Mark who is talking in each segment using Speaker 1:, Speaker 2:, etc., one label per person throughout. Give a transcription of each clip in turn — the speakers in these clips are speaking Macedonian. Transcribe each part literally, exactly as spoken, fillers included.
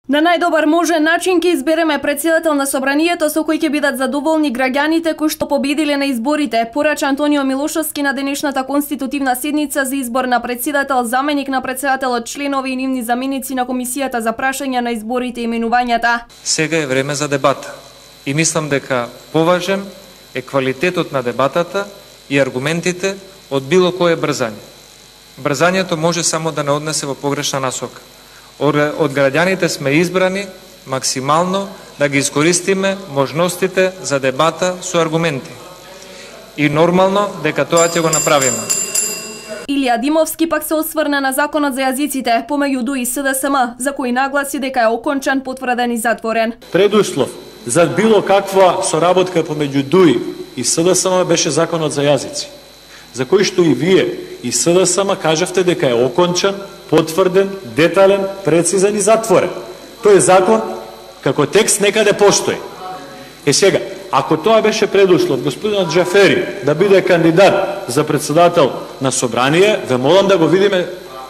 Speaker 1: На најдобар можен начин ќе избереме претседател на собранието со кој ќе бидат задоволни граѓаните кои што победиле на изборите, порача Антонио Милошовски на денешната конститутивна седница за избор на претседател, заменик на претседателот, членови и нивни заменици на комисијата за прашања на изборите и именувањата.
Speaker 2: Сега е време за дебата и мислам дека поважен е квалитетот на дебатата и аргументите од било кое брзање. Брзањето може само да не однесе во погрешна насока. Од граѓаните сме избрани максимално да ги искористиме можностите за дебата со аргументи. И нормално дека тоа ќе го направиме.
Speaker 1: Илија Димовски пак се осврна на законот за јазиците помеѓу ДУ и СДСМ, за кој нагласи дека е окончан, потврден и затворен.
Speaker 3: Предуслов за било каква соработка помеѓу ДУ и СДСМ беше законот за јазици, за кој што и вие и СДСМ кажавте дека е окончан, потврден, детален, прецизен и затворен. Тој закон како текст некаде постои. Е сега, ако тоа беше предуслов господинот Џафери да биде кандидат за председател на собрание, ве молам да го видиме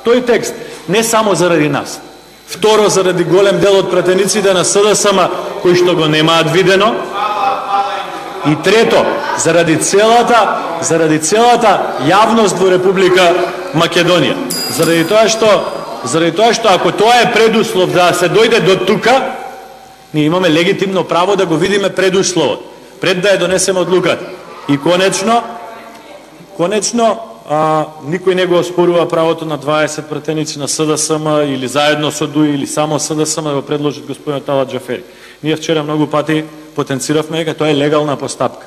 Speaker 3: тој текст, не само заради нас. Второ, заради голем дел од пратениците на СДСМ кои што го немаат видено. И трето, заради целата, заради целата јавност во Република Македонија. Заради тоа што, заради тоа што ако тоа е предуслов да се дојде до тука, ние имаме легитимно право да го видиме предусловот, пред да ја донесеме одлуката. И конечно, конечно, а, никој не го оспорува правото на дваесет пратеници на СДСМ или заедно со ДУ или само СДСМ да го предложат господинот Талат Џафери. Ние вчера многу пати потенциравме дека тоа е легална постапка.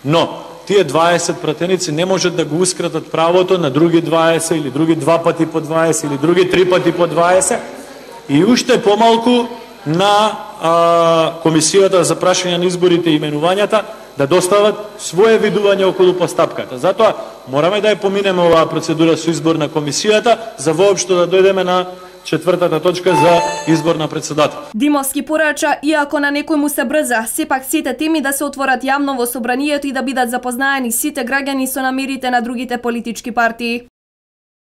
Speaker 3: Но тие дваесет пратеници не можат да гоускратат правото на други дваесет или други два пати по дваесет или други три пати по дваесет и уште помалку на а, комисијата за прашање на изборите и именувањата да достават свое видување околу постапката. Затоа мораме да ја поминеме оваа процедура со избор на комисијата за воопшто да дојдеме на четвртата точка за избор на председател.
Speaker 1: Димовски порача, иако на некој му се брза, сепак сите теми да се отворат јавно во собранието и да бидат запознаени сите граѓани со намерите на другите политички партии.